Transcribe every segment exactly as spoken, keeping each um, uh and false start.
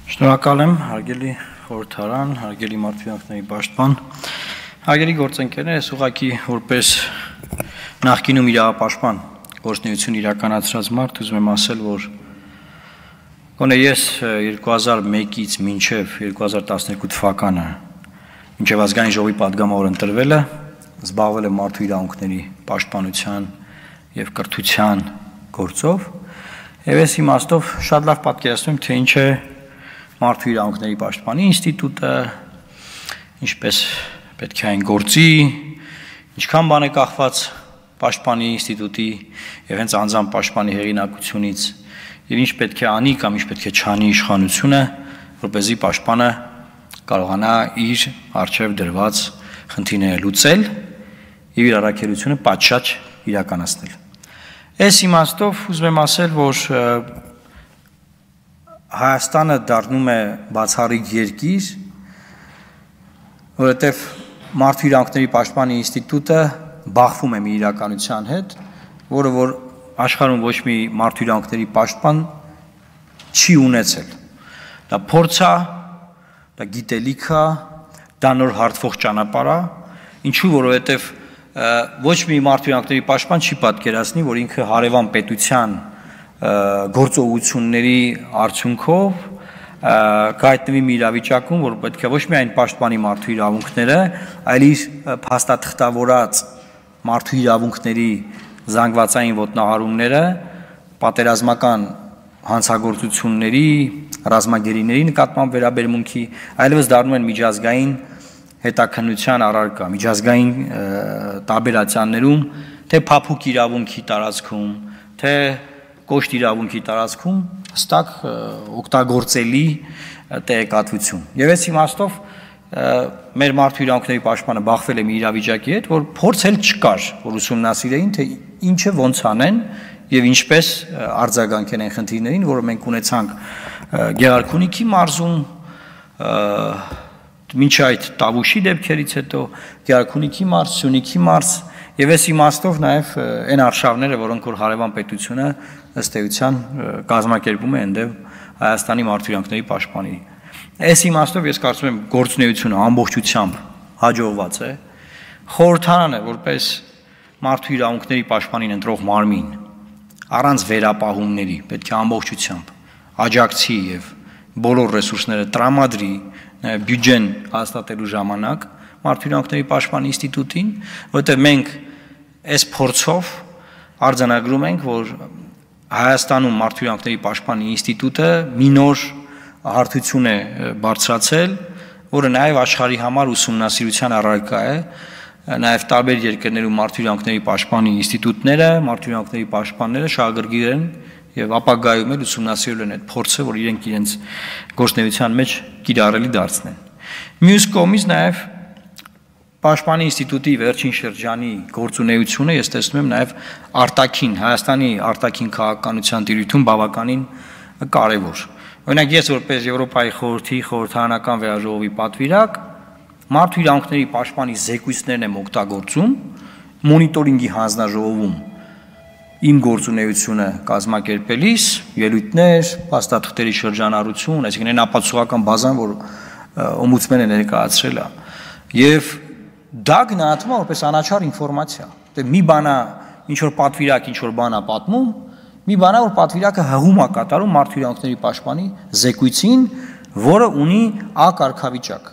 Շնորհակալ եմ, հարգելի խորհրդարան, հարգելի մարդու պաշտպան, հարգելի գործընկերներ, ես ուղղակի որպես նախկինում իրավապաշտպան գործունեություն իրականացրած մարդ ուզում եմ ասել, որ գոնե ես երկու հազար մեկից մինչև երկու հազար տասներկու թվականը մինչև ազգային ժողովի պատգամավոր ընտրվելը զբաղվել եմ մարդու իրավունքների պաշտպանության եւ կրթության գործով եւ ես իմաստով շատ լավ պատկերացնում եմ, թե ինչ է մարդու իրավունքների պաշտպանի ինստիտուտը, ինչպես պետք է այն գործի, ինչքան բան է կախված պաշտպանի ինստիտուտի եւ հենց անձամբ պաշտպանի հեղինակությունից եւ ինչ պետք է անի կամ ինչ պետք է չանի իշխանությունը, որպեսզի պաշտպանը կարողանա իր առջև դրված խնդիրները լուծել եւ իր առաքելությունը պատշաճ իրականացնել։ Այս իմաստով ուզում եմ ասել, որ Հայաստանը դառնում է բացառիկ երկիր, որովհետև մարդու իրավունքների պաշտպանի ինստիտուտը բախվում է մի իրականության հետ, որը որ աշխարհում ոչ մի մարդու իրավունքների պաշտպան չի ունեցել։ Դա փորձ է, դա գիտելիք է, դա նոր հարթվող ճանապարհ է, ինչու որովհետև ոչ մի մարդու իրավունքների պաշտպան չի պատկերացնի, որ ինքը հարևան պետության գործողությունների արդյունքով կայտնվի մի իրավիճակում, որ պետք է ոչ միայն պաշտպանի մարդու իրավունքները, այլ իր փաստաթղթավորած մարդու իրավունքների զանգվածային ոտնահարումները պատերազմական հանցագործությունների, ռազմագերիների նկատմամբ վերաբերմունքի, այլևս դառնում են միջազգային հետաքննության առարկա, միջազգային տարբերացիաներում, թե փափուկ իրավունքի տարածքում, թե կոշտ իրավունքի տարածքում հստակ օգտագործելի տեղեկատվություն։ Եվ այս իմաստով մեր մարդու իրավունքների պաշտպանը բախվել է մի իրավիճակի հետ, որ փորձ էլ չկար, որ ուսումնասիրեին, թե ինչը ոնց անեն եւ ինչպես արձագանքեն այն խնդիրներին, որը մենք ունեցանք Գեղարքունիքի մարզում, մինչ այդ Տավուշի դեպքերից հետո Գեղարքունիքի մարզ, Սյունիքի մարզ եւ այս իմաստով նաեւ այն արշավները, որոնք որ հարևան պետությունը ըստ էության կազմակերպում է ընդդեմ Հայաստանի մարդու իրավունքների պաշտպանի։ Այս իմաստով ես կարծում եմ գործունեությունը ամբողջությամբ հաջողված է։ Խորհրդարանը որպես մարդու իրավունքների պաշտպանին ընտրող մարմին առանց վերապահումների պետք է ամբողջությամբ աջակցի եւ բոլոր ռեսուրսները տրամադրի բյուջեն հաստատելու ժամանակ մարդու իրավունքների պաշտպանի ինստիտուտին, որտեղ մենք այս փորձով արձանագրում ենք, որ Հայաստանում մարդու իրավունքների պաշտպանի ինստիտուտը մի նոր հարթություն է բարձրացել, որը նաև աշխարհի համար ուսումնասիրության առարկա է, նաև տարբեր երկրներում մարդու իրավունքների պաշտպանի ինստիտուտները, մարդու իրավունքների պաշտպանները շահագրգիռ են եւ ապագայում էլ ուսումնասիրել են այդ փորձը, որ իրենք իրենց գործունեության մեջ կիրառելի դարձնեն։ Մյուս կողմից նաև Պաշտպանի ինստիտուտի վերջին շրջանի գործունեությունը ես տեսնում եմ նաև արտաքին Հայաստանի արտաքին քաղաքականության տիրույթում բավականին կարևոր։ Օրինակ ես որպես Եվրոպայի խորհրդի խորհրդարանական վերաժողովի պատվիրակ մարդու իրավունքների պաշտպանի զեկույցներն եմ օգտագործում մոնիտորինգի հանձնաժողովում իմ գործունեությունը կազմակերպելիս ելույթներ, փաստաթղթերի շրջանառություն, այսինքն այն ապացուցողական բազան, որ օմբուդսմենը ներկայացրել է, եւ դա գնահատվում է որպես անաչառ ինֆորմացիա։ Դե մի բանա ինչ որ պատվիրակ ինչ որ բանա պատմում, մի բանա որ պատվիրակը հղում է կատարում մարդու իրավունքների պաշտպանի զեկույցին, որը ունի Ա կարգավիճակ,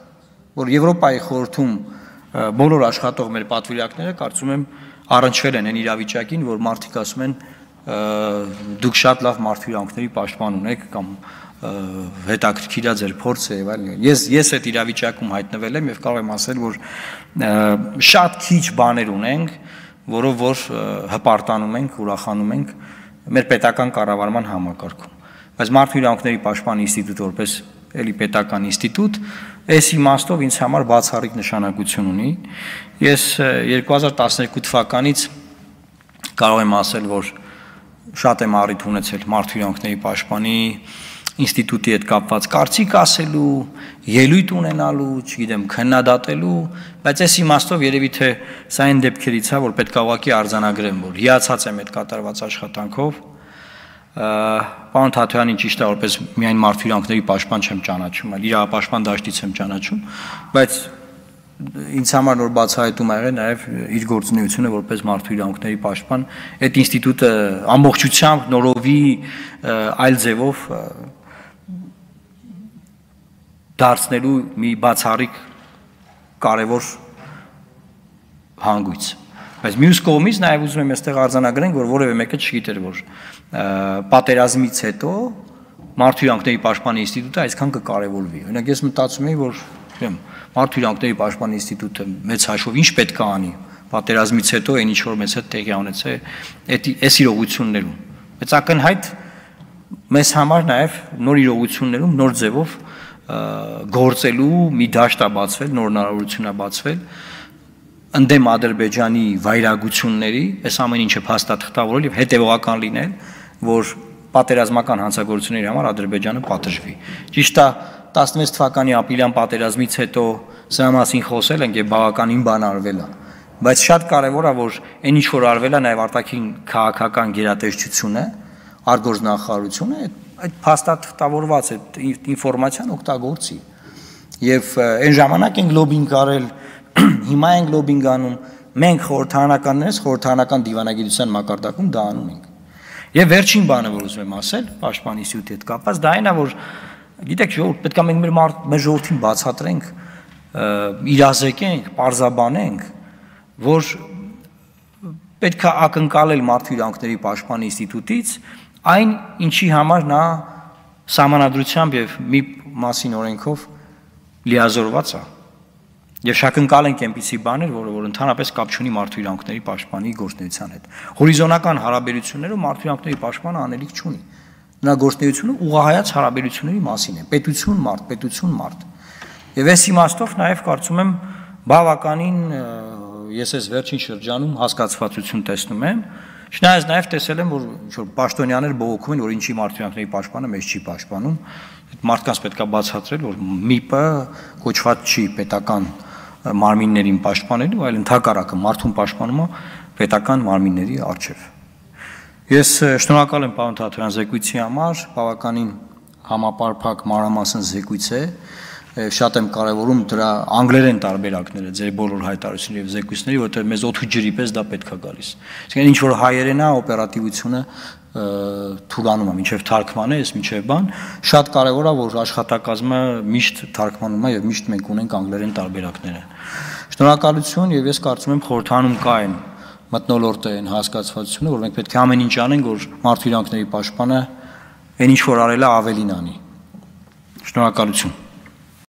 որ Եվրոպայի խորհրդում բոլոր աշխատող մեր պատվիրակները կարծում եմ առնչվել են այն իրավիճակին, որ մարդիկ ասում են դուք շատ լավ մարդու իրավունքների պաշտպան ունեք կամ հետաքրքիր է ձեր փորձը եւ այլն։ Ես ես այդ իրավիճակում հայտնվել եմ եւ կարող եմ ասել, որ շատ քիչ բաներ ունենք, որով որ հպարտանում ենք, ուրախանում ենք մեր պետական կառավարման համակարգում։ Բայց մարդու իրավունքների պաշտպանի ինստիտուտը որպես էլի պետական ինստիտուտ, այս իմաստով ինձ համար բացառիկ նշանակություն ունի։ Ես երկու հազար տասներկու թվականից կարող եմ ասել, որ շատ եմ առիթ ունեցել մարդու իրավունքների պաշտպանի ինստիտուտի հետ կապված կարծիք ասելու, ելույթ ունենալու, չգիտեմ, քննադատելու, բայց այս իմաստով երևի թե սա այն դեպքերից է, որ պետք է ուղղակի արձանագրեմ, որ հիացած եմ այդ կատարված աշխատանքով, Պարոն Թաթոյանին ճիշտ է որպես միայն մարդու իրավունքների պաշտպան չեմ ճանաչում, այլ իրավապաշտպան դաշտից եմ ճանաչում, բայց ինձ համար նոր բացահայտում ա եղել նաև իր գործունեությունը որպես մարդու իրավունքների պաշտպան, այդ ինստիտուտը ամբողջությամբ նորովի այլ ձևով դարձնելու մի բացառիկ կարևոր հանգույց։ Բայց մյուս կողմից նաև ուզում եմ այստեղ արձանագրենք, որ որևէ մեկը չգիտեր, որ պատերազմից հետո մարդու իրավունքների պաշտպանի ինստիտուտը այսքան կկարևորվի։ Օրինակ ես մտածում եի, որ մարդու իրավունքների պաշտպանի ինստիտուտը մեծ հաշվով ինչ պետք է անի պատերազմից հետո այն ինչ որ մեծ հետ տեղի ունեցել այս իրողություններում։ Բայց ակնհայտ մեզ համար նաև նոր իրողություններում նոր ձևով գործելու մի դաշտ է բացվել, նոր հնարավորություն է բացվել ընդդեմ Ադրբեջանի վայրագությունների, այս ամեն ինչը փաստաթղթավորել եւ հետեւողական լինել, որ պատերազմական հանցագործությունների համար Ադրբեջանը պատժվի։ Ճիշտ է, տասնվեց թվականի ապրիլյան պատերազմից հետո սրա մասին խոսել ենք եւ բավականին բան արվել է, բայց շատ կարեւոր է, որ այն ինչ որ արվել է նաեւ արտաքին քաղաքական գերատեսչությունը, արտգործնախարարությունը այդ փաստաթղթավորված այդ ինֆորմացիան օգտագործի եւ այն ժամանակ ենք լոբինգ արել, հիմա ենք լոբինգ անում, մենք խորհրդարանականներս խորհրդարանական դիվանագիտության մակարդակում դա անում ենք։ Եվ վերջին բանը, որ ուզում եմ ասել, պաշտպան ինստիտուտի հետ կապված, դա այն է, որ գիտեք, ժողովուրդ պետք է մենք մեր մեր ժողովրդին բացատրենք, իրազեկենք, պարզաբանենք, որ պետք է ակնկալել մարդու իրավունքների պաշտպան ինստիտուտից այն, ինչի համար նա սահմանադրությամբ եւ մի մասին օրենքով լիազորված է։ Եվ շակնկալենք այնպիսի բաներ, որը որ ընդհանրապես կապ չունի մարդու իրավունքների պաշտպանի գործունեության հետ։ Հորիզոնական հարաբերություններում մարդու իրավունքների պաշտպանը անելիք չունի։ Նրա գործունեությունը ուղղահայաց հարաբերությունների մասին է, պետություն մարդ, պետություն մարդ։ Եվ այս իմաստով նաև կարծում եմ բավականին ես այս վերջին շրջանում հասկացվածություն տեսնում եմ, չնայած նաև տեսել եմ, որ ինչ-որ պաշտոնյաներ բողոքում են, որ ինչի մարդու իրավունքների պաշտպանը մեզ չի պաշտպանում, մարդկանց պետք է բացատրել, որ ՄԻՊ-ը կոչված չի պետական մարմիններին պաշտպանելու, այլ ընդհակառակը մարդուն պաշտպանում է պետական մարմինների առջև։ Ես շնորհակալ եմ պարոն Թաթոյան զեկույցի համար, բավականին համապարփակ մանրամասն զեկույց է, շատ եմ կարևորում դրա անգլերեն տարբերակները, ձեր բոլոր հայտարարությունների եւ զեկույցների, որտեղ մեզ օդու ջրի պես դա պետք է գալիս։ Այսինքն ինչ որ հայերեն է, օպերատիվությունը թուլանում է, մինչև թարգմանը, ես մինչև բան, շատ կարևոր է, որ աշխատակազմը միշտ թարգմանում է եւ միշտ մենք ունենք անգլերեն տարբերակները։ Շնորհակալություն եւ ես կարծում եմ խորհրդանում կա այն մթնոլորտը, այն հասկացվածությունը, որ մենք պետք է ամեն ինչ անենք, որ մարդու իրավունքների պաշտպանը այն ինչ որ արել է ավելին անի։ Շնորհակալություն։